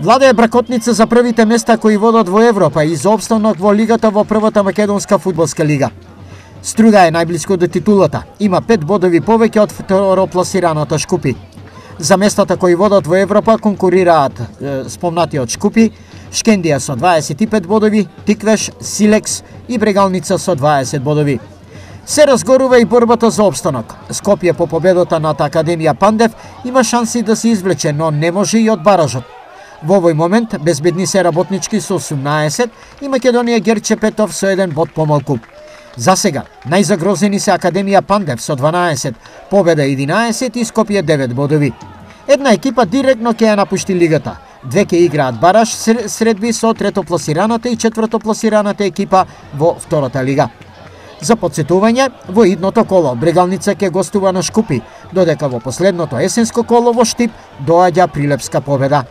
Владе е бракотница за првите места кои водат во Европа и за опстанок во лигата во првата македонска фудбалска лига. Струга е најблиско до титулата, има 5 бодови повеќе од второпласираната Шкупи. За местата кои водат во Европа конкурираат спомнатиот Шкупи, Шкендија со 25 бодови, Тиквеш, Силекс и Брегалница со 20 бодови. Се разгорува и борбата за опстанок. Скопје по победата над Академија Пандев има шанси да се извлече, но не може и од баражот. Во овој момент безбедни се Работнички со 18 и Македонија Герчепетов со 1 бод помалку. За сега, најзагрозени се Академија Пандев со 12, Победа 11 и Скопје 9 бодови. Една екипа директно ќе ја напушти лигата. Две ќе играат бараж средби со третопласираната и четвртопласираната екипа во втората лига. За подсетување, во идното коло Брегалница ќе гостува на Шкупи, додека во последното есенско коло во Штип доаѓа Прилепска Победа.